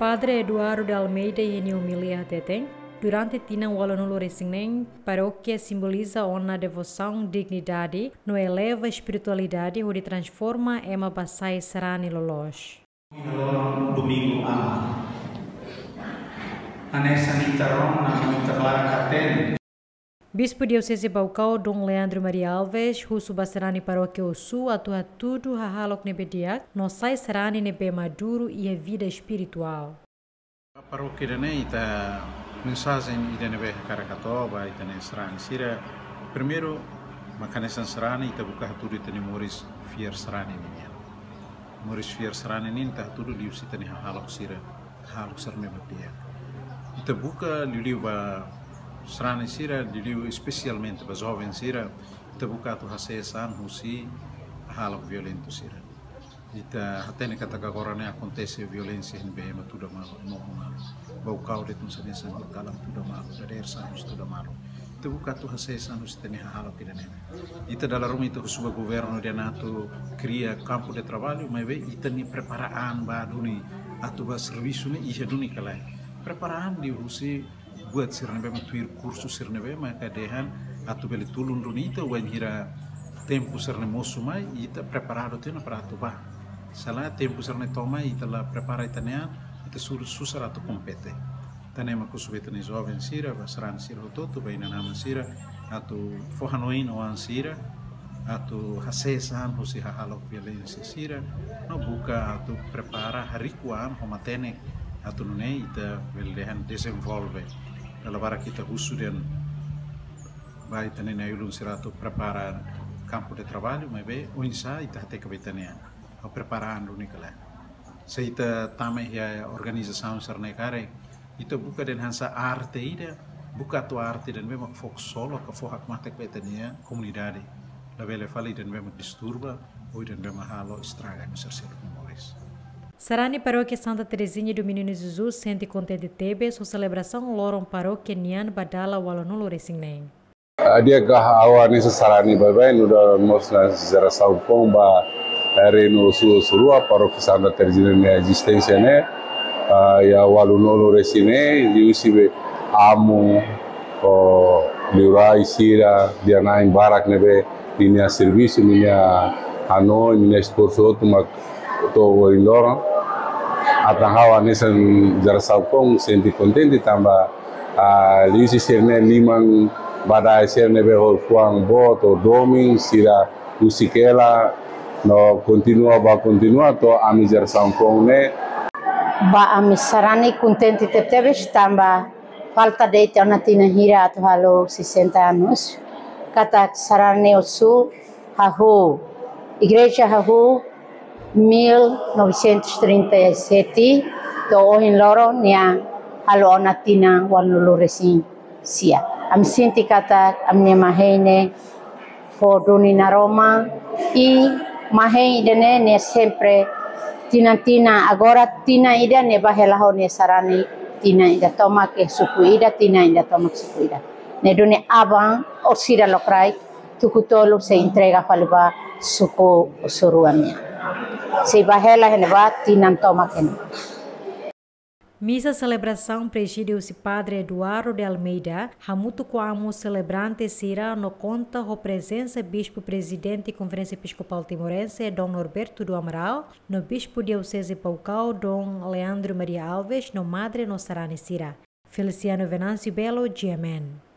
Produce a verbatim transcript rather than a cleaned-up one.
Padre Eduardo de Almeida iha nia omilia hateten, durante tinan ualunulu-resin-neen, parókia simboliza ona devosaun, dignidade, no eleva espiritualidade hodi transforma ema ba sai sarani loloos. Iha loron Domingu Aman. Hanesan ita rona no ita barak hatene. Bispu Dioseze Baucau, Dom Leandro Maria Alves, husu ba sarani parókia Ossu atu hatudu hahalok ne'ebé di'ak, no sai sarani ne'ebé maduru iha vida espirituál. Parókia ida-ne'e ita mensajen ida ne'ebé hakarak hato'o ba ita-nia sarani sira. Primeiru, mak hanesan sarani ita buka hatudu ita-nia moris fiar sarani ninian. Moris fiar sarani ninian ita hatudu liuhusi ita-nia hahalok sira, hahalok sira ne'ebé di'ak. Ita buka liuliu ba sarani sira, liuliu espesialmente ba joven sira, ita buka atu hasees an husi hahalok violentu sira. Ita hatene katak agora ne'e akontese violénsia iha ne'ebé ema tuda malu, ema oho malu. Baucau de'it mós hanesan, horikalan tuda malu, dadeer-saan mós tuda malu. Ita buka atu hasees an husi ita-nia hahalok ida-ne'e. Ita dala ruma ita husu ba governu ida-ne'e atu kria kampu de traballu, maibé ita-nia prepara an ba duni atu ba servisu ne'e iha duni ka lae. Prepara an liuhusi buat sira ne'ebé mak tuir kursu sira ne'ebé maka dehan atu bele tulun duni ita wainhira tempu sira-ne'e mosu mai, ita preparadu tiha ona para atu bá. Se lae tempu sira-ne'e to'o mai ita la prepara ita-nia an, ita su-, susar atu kompete. Entaun ne'e mak husu ba ita-nia joven sira, ba sarani sira hotu-hotu, ba inan-aman sira, atu fó hanoin oan sira, atu hasees an husi hahalok violénsia sira, no buka atu prepara, hariku an ho matenek, atu nune'e ita bele dehan dezenvolve. Dala barak ita husu dehan ba ita-nia na'i-ulun sira atu prepara kampu de traballu, maibé oinsá ita hateke ba ita-nia an, ha'u prepara an duni ka lae. Se ita tama iha organizasaun sira-ne'e karik, ita buka dehan hanesan arte ida, buka atu arte ida ne'ebé mak fó konsolu ka fó hakmatek ba ita-nia komunidade. Labele fali ida ne'ebé mak disturba, ou ida ne'ebé mak halo estraga ema sira-nia moris. Sarani Parókia Santa Terezinha do Menino Jesus sente kontente tebes ho selebrasaun loron parókia nian ba dala ualunulu-resin-neen. Ah, di'ak, ha'u hanesan sarani baibain, nu'udar mós nia jerasaun foun ba, eh, Reinu Ossu, Ossu Rua, Parókia Santa Terezinha nia ezisténsia ne'e. Ah, iha ualunulu-resin-neen, liuhusi be amu, ho liurai sira, iha na'in barak ne'ebé ninia servisu, ninia hanoin, ninia esforsu hotu mak to'o ohin loron. Entaun ha'u hanesan jerasaun foun sente kontente tanba, ah, liuhusi sira-ne'e liman badae sira ne'ebé ho fuan boot, ho domin, sira husik hela, no kontinua ba kontinua to'o ami jerasaun foun ne'e. Ba ami sarani kontente tebetebes tanba falta de'it ona tinan hira atu halo sessenta anos. Katak sarani Ossu hahú, igreja hahú mil novecentos e trinta e sete, to'o ohin loron nia halo ona tinan ualunulu-resin-sia. Ami sente katak ami-nia mahei ne'e fó duni naroman, i mahei ida-ne'e ne'e sempre tinan-tinan, agora tinan ida ne'e bá hela ho nia sarani tinan ida tomak iha suku ida, tinan ida tomak suku ida. Ne'e duni aban orsida lokraik tuku tolu sei entrega fali ba suku Ossu Rua nian. Sei bá hela iha ne'ebá tinan tomak iha ne'ebá. Misa selebrasaun prezide husi Padre Eduardo de Almeida, hamutuk ho amu selebrante sira no konta ho prezensa Bispu Prezidente Konferénsia Episkopál Timorense, Dom Norberto do Amaral, no Bispu Dioseze Baucau, Dom Leandro Maria Alves, no Madre no sarani sira. Feliciano Venâncio Belo, G M N.